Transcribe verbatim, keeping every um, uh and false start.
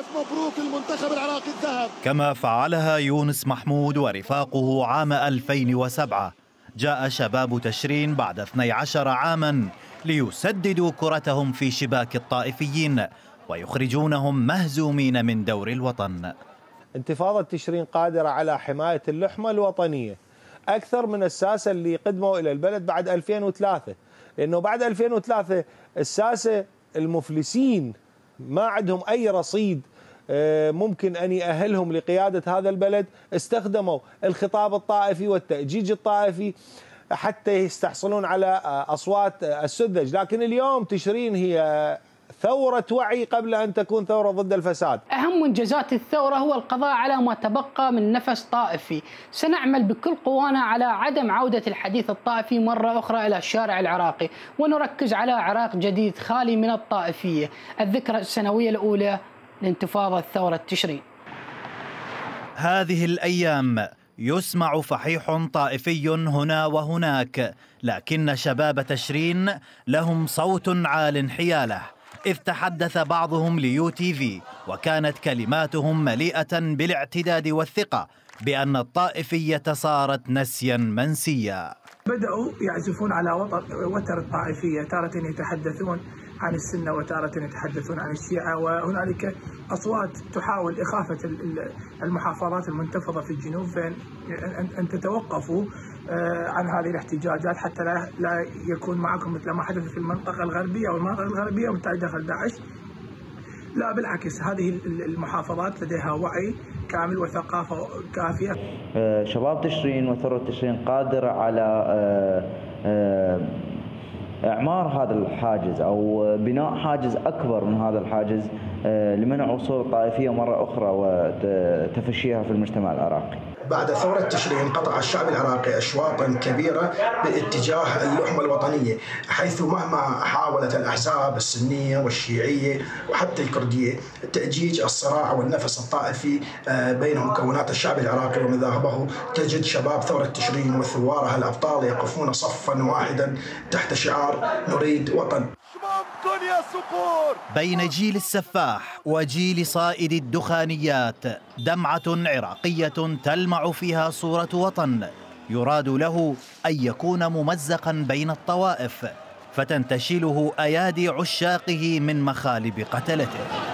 مبروك المنتخب العراقي الذهب. كما فعلها يونس محمود ورفاقه عام ألفين وسبعة. جاء شباب تشرين بعد اثني عشر عاما ليسددوا كرتهم في شباك الطائفيين ويخرجونهم مهزومين من دور الوطن. انتفاضة تشرين قادرة على حماية اللحمة الوطنية أكثر من الساسة اللي قدموا إلى البلد بعد ألفين وثلاثة، لأنه بعد ألفين وثلاثة الساسة المفلسين ما عندهم أي رصيد ممكن أن يأهلهم لقيادة هذا البلد، استخدموا الخطاب الطائفي والتأجيج الطائفي حتى يستحصلون على أصوات السذج. لكن اليوم تشرين هي ثورة وعي قبل أن تكون ثورة ضد الفساد. أهم منجزات الثورة هو القضاء على ما تبقى من نفس طائفي. سنعمل بكل قوانا على عدم عودة الحديث الطائفي مرة أخرى إلى الشارع العراقي، ونركز على عراق جديد خالي من الطائفية. الذكرى السنوية الأولى لانتفاضة ثورة تشرين. هذه الأيام يسمع فحيح طائفي هنا وهناك، لكن شباب تشرين لهم صوت عال حياله، إذ تحدث بعضهم ليو تي في وكانت كلماتهم مليئة بالاعتداد والثقة بأن الطائفية صارت نسيا منسيا. بدأوا يعزفون على وتر الطائفية، تارة يتحدثون عن السنة وتارة يتحدثون عن الشيعة، وهنالك أصوات تحاول إخافة المحافظات المنتفضة في الجنوب فإن أن تتوقفوا عن هذه الاحتجاجات حتى لا لا يكون معكم مثل ما حدث في المنطقة الغربية والمنطقة الغربية وبالتالي دخل داعش. لا بالعكس، هذه المحافظات لديها وعي كامل وثقافة كافية. شباب تشرين وثورة تشرين قادرة على إعمار هذا الحاجز أو بناء حاجز أكبر من هذا الحاجز لمنع وصول الطائفية مرة أخرى وتفشيها في المجتمع العراقي. بعد ثورة تشرين قطع الشعب العراقي أشواطا كبيرة باتجاه اللحمة الوطنية، حيث مهما حاولت الأحزاب السنية والشيعية وحتى الكردية تأجيج الصراع والنفس الطائفي بين مكونات الشعب العراقي ومذاهبه، تجد شباب ثورة تشرين وثوارها الأبطال يقفون صفا واحدا تحت شعار نريد وطن. بين جيل السفاح وجيل صائد الدخانيات دمعة عراقية تلمع فيها صورة وطن يراد له أن يكون ممزقا بين الطوائف فتنتشله أيادي عشاقه من مخالب قتلته.